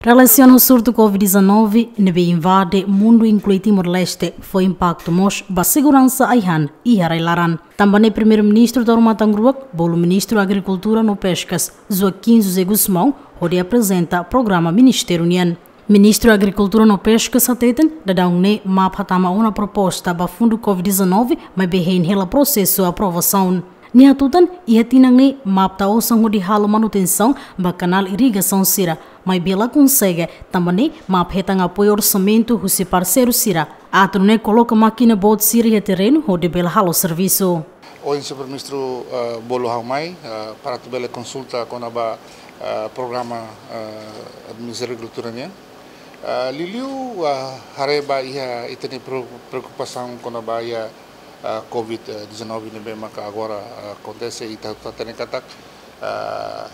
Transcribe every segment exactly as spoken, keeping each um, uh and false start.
Relasiona ho surtu Covid dezanove ne'ebé invade mundu, inklui Timor-Leste, fó impaktu mós ba seguransa ai-han iha rai-laran. Tanba ne'e Primeiru-Ministru Taur Matan Ruak bolu Ministru Agrikultura no Peskas, Joaquim José Gusmão, hodi aprezenta programa ministériu nian. Ministru Agrikultura no Peskas hateten, daudaun ne'e MAP hatama ona proposta ba fundu Covid dezanove, maibé hein hela prosesu aprovasaun. Nia hatutan, iha tinan ne'e MAP tau osan hodi halo manutensaun ba kanál irrigasaun sira, maibé la konsege, tanba ne'e MAP hetan apoiu orsamentu husi parseiru sira atu nune'e koloka mákina boot sira iha terrenu hodi bele halo servisu. Ohin Señór Primeiru-Ministru, eh, bolu ha'u mai, eh, para atu bele konsulta kona-ba, eh, programa, eh, Ministériu Agrikultura nian. Eh, liuliu, eh, haree ba iha ita-nia preo-, preokupasaun kona-ba iha, eh, Covid dezanove ne'ebé maka agora, eh, akontese, ita hatene katak, eh,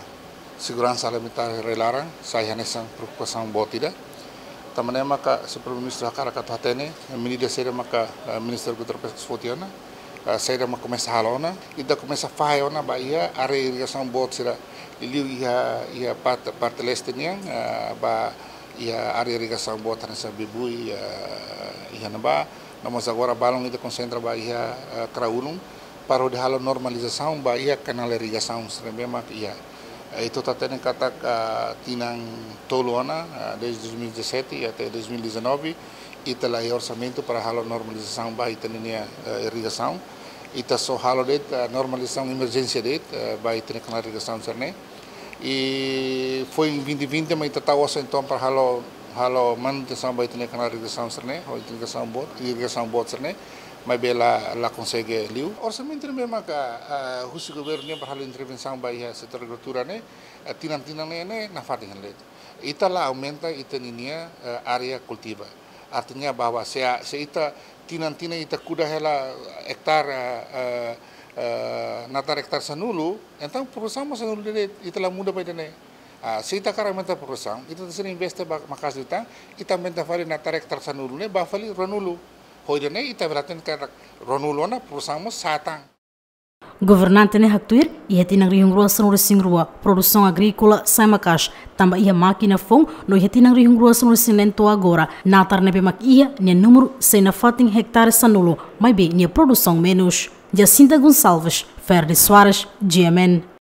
seguransa alimentár rai-laran sai hanesan preokupasaun boot ida. Tanba ne'e maka Señór Primeiru-Ministru hakarak atu hatene medida saida maka, eh, Ministériu Agrikultura Peskas foti ona, eh, saida mak komesa halo ona, ita komesa fahe ona ba iha área irrigasaun boot sira, liuliu iha, iha parte, parte leste nian, eh, ba iha área irrigasaun boot hanesan Bebui, eh, iha ne'ebá, no mós agora balun ita konsentra ba iha, eh, Kraulum, para hodi halo normalizasaun ba iha kanál irrigasaun sira ne'ebé mak iha. Eh, ita hatene katak, eh, tinan tolu ona, eh, desde dois mil e dezassete até dois mil e dezenove, ita la iha orsamentu para halo normalizasaun ba ita-nia, eh, irrigasaun. Ita só halo de'it, eh, normalizasaun emerjénsia de'it, eh, ba ita-nia kanál irrigasaun sira-ne'e. I foin vinte vinte mak ita tau osan entaun para halo, halo manutensaun ba ita-nia kanál irrigasaun sira-ne'e, ho ita-nia irrigasaun boot, irrigasaun boot sira-ne'e, maibé la, la konsege liu. Orsamentu ne'ebé maka, ah, husi governu nian para halo intervensaun ba iha setór agrikultura ne'e, ah, tinan-tinan ne'e, ne'e nafatin hela de'it. Ita la aumenta ita-nia, eh, área kultiva. Artinya bahwa se, se ita tinan-tinan ita kuda hela ektár, eh, eh, eh, natar ektár sanulu, entaun produsaun mós sanulu de'it, ita la muda ba ida-ne'e. Ah, se ita hakarak aumenta produsaun, ita tenke investe ba maka'as liután, ita aumenta fali natar ektár sanulu ne'e ba fali ruanulu. Ho ida-ne'e ita bele hatene katak ruanulu ona produsaun mós sa'e tan. Governante ne'e haktuir, iha tinan rihun rua sanulu-resin-rua, produsaun agríkola sa'e maka'as, tanba iha mákina foun, no iha tinan rihun rua sanulu-resin-neen to'o agora, natar ne'ebé mak iha, nia númeru sei nafatin ektare sanulu, maibé nia produsaun menus. Jacinta Gonçalves, Ferdi Soares, G M N.